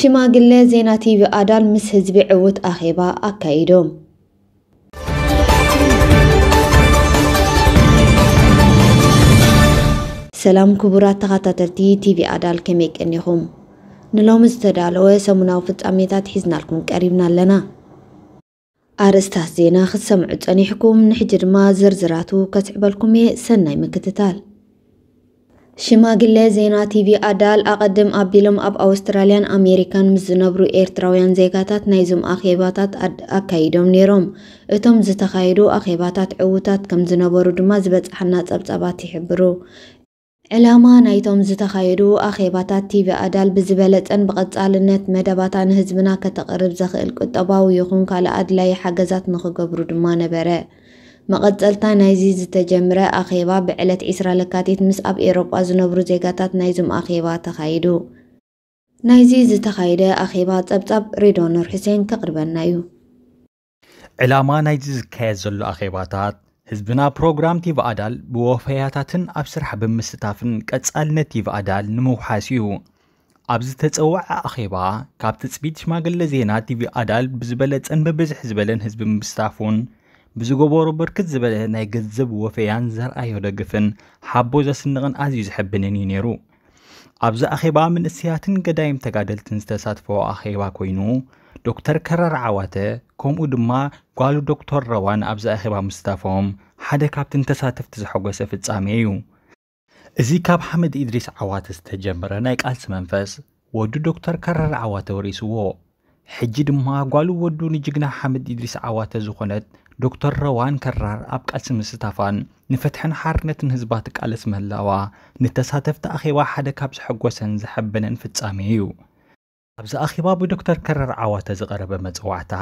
ሽማግለ ዜና ቲቪ ኣዳል ምስ ህዝቢ ዕዉት ኣኼባ ኣካይዶም። ሰላም ክቡራት ተኸታተልቲ ቲቪ ኣዳል፣ ከመይ ቀኒኹም? ንሎሚ ዝተዳለወ ሰሙናዊ ፍጻሜታት ሒዝናልኩም ቀሪብና ኣለና። ኣርእስታት ዜና ክትሰምዑ ጸኒሕኩም፣ ንሕጂ ድማ ዝርዝራቱ ከስዕበልኩም እየ። ሰናይ ምክትታል። ሽማግለ ዜና ቲቪ ኣዳል ኣቐድም ኣቢሎም ኣብ ኣውስትራልያን ኣሜሪካን ምስ ዝነብሩ ኤርትራውያን ዜጋታት ናይዞም ኣኼባታት ኣድ-፣ ኣካይዶም ነይሮም። እቶም ዝተኻየዱ ኣኼባታት ዕዉታት ከም ዝነበሩ ድማ ዝበጽሓና ጸብጻባት ይሕብሩ። ዕላማ ናይቶም ዝተኻየዱ ኣኼባታት ቲቪ ኣዳል ብዝበለጸን ብቐጻልነት መደባታ ንህዝብና ከተቕርብ ዘኽእል ቁጠባዊ ይኹን ካልእ ኣድላዪ ሓገዛት ንኽገብሩ ድማ ነበረ። መቐጸልታ ናይዚ ዝተጀምረ ኣኼባ ብዕለት ዕስራ ለካቲት ምስ ኣብ ኤውሮጳ ዝነብሩ ዜጋታት ናይዞም ኣኼባ ተኻይዱ። ናይዚ ዝተኻየደ ኣኼባ ጸብጻብ ሬድዋን ኑር ሑሴን ከቕርበልና እዩ። ዕላማ ናይዚ ዝካየድ ዘሎ ኣኼባታት ህዝብና ፕሮግራም ቲቪ ኣዳል ብወፈያታትን ኣብ ስራሕ ብምስታፍን ቀጻልነት ቲቪ ኣዳል ንምውሓስ እዩ። ኣብ ዝተጸውዐ ኣኼባ ካብ ትጽቢት ሽማግለ ዜና ቲቪ ኣዳል ብዝበለጸን ብብዝሒ ዝበለን ህዝቢ ምስታፉን ብዝገበሮ ብርክት ዝበለ ናይ ገንዘብ ወፈያን ዘርኣዮ ደግፍን ሓቦ ዘስንቕን ኣዝዩ ዘሐብንን እዩ ነይሩ። ኣብዚ ኣኼባ መንእሰያትን ገዳይም ተጋደልትን ዝተሳትፈዎ ኣኼባ ኮይኑ፣ ዶክተር ከረር ዓዋተ ከምኡ ድማ ጓሉ ዶክተር ረዋን ኣብዚ ኣኼባ ምስታፎም ሓደ ካብቲ ንተሳተፍቲ ዘሐጎሰ ፍጻሜ እዩ። እዚ ካብ ሓምድ ኢድሪስ ዓዋተ ዝተጀመረ ናይ ቃልሲ መንፈስ ወዱ ዶክተር ከረር ዓዋተ ወሪስዎ። ሕጂ ድማ ጓሉ ወዱ ንጅግና ሓምድ ኢድሪስ ዓዋተ ዝኾነት ዶክተር ረዋን ከራር ኣብ ቃልሲ ምስታፋን ንፍትሕን ሓርነትን ህዝባ ትቃለስ ምህላዋ ንተሳተፍቲ ኣኼባ ሓደ ካብ ዘሐጎሰን ዘሐበነን ፍጻሜ እዩ። ኣብዚ ኣኼባ ብዶክተር ከረር ዓዋተ ዝቐረበ መጽዋዕታ፣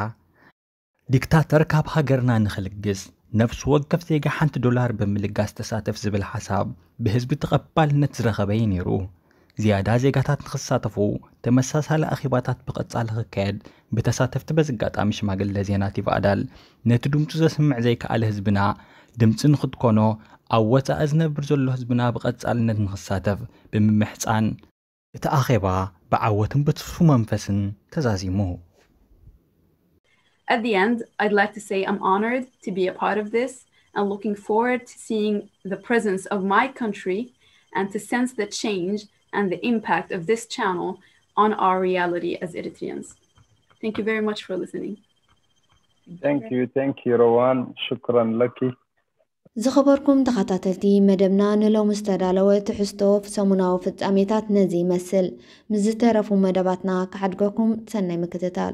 ዲክታተር ካብ ሃገርና ንኽልግስ ነፍሲ ወከፍ ዜጋ ሓንቲ ዶላር ብምልጋስ ተሳተፍ ዝብል ሓሳብ ብህዝቢ ተቐባልነት ዝረኸበ እዩ ነይሩ። ዝያዳ ዜጋታት ንኽሳተፉ ተመሳሳሊ ኣኼባታት ብቐጻሊ ክካየድ ብተሳተፍቲ በዚ ኣጋጣሚ ሽማግለ ዜና ቲቪ ኣዳል ነቲ ድምፁ ዘስምዕ ዘይከኣለ ህዝብና ድምፂ ንኽትኮኖ ኣብ ወፃኢ ዝነብር ዘሎ ህዝብና ብቐጻልነት ንኽሳተፍ ብምምሕፃን እቲ ኣኼባ ብዓወትን ብትስፉ መንፈስን ተዛዚሙ። At the end, I'd like to say I'm honored to be a part of this and looking forward to seeing the presence of my country and to sense the change and the impact of this channel on our reality as Eritreans. Thank you very much for listening. Thank you, thank you, Rawan. شكرا لك. ዝኸበርኩም ተኸታተልቲ መደብና፣ ንሎሚ ዝተዳለወ ትሕዝቶ ሰሙናዊ ፍጻሜታት ነዚ ይመስል። ምስ ዝተረፉ መደባትና ክሓድገኩም። ሰናይ ምክትታል።